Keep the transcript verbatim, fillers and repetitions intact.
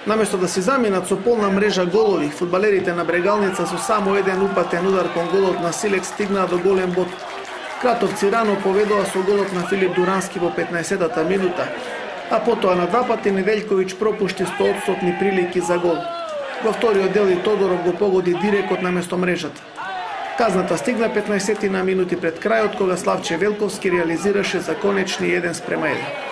Наместо да си заминат со полна мрежа голови, фудбалерите на Брегалница со само еден упатен удар кон голот на Силекс стигнаа до голем бод. Кратовци рано поведоа со голот на Филип Дурански во петнаесеттата минута, а потоа на два пати Неделјковиќ пропушти стоодстотни прилики за гол. Во вториот дел и Тодоров го погоди дирекот наместо мрежата. Казната стигна петнаесеттина минути пред крајот, кога Славче Велковски реализираше за конечни еден спрема еден.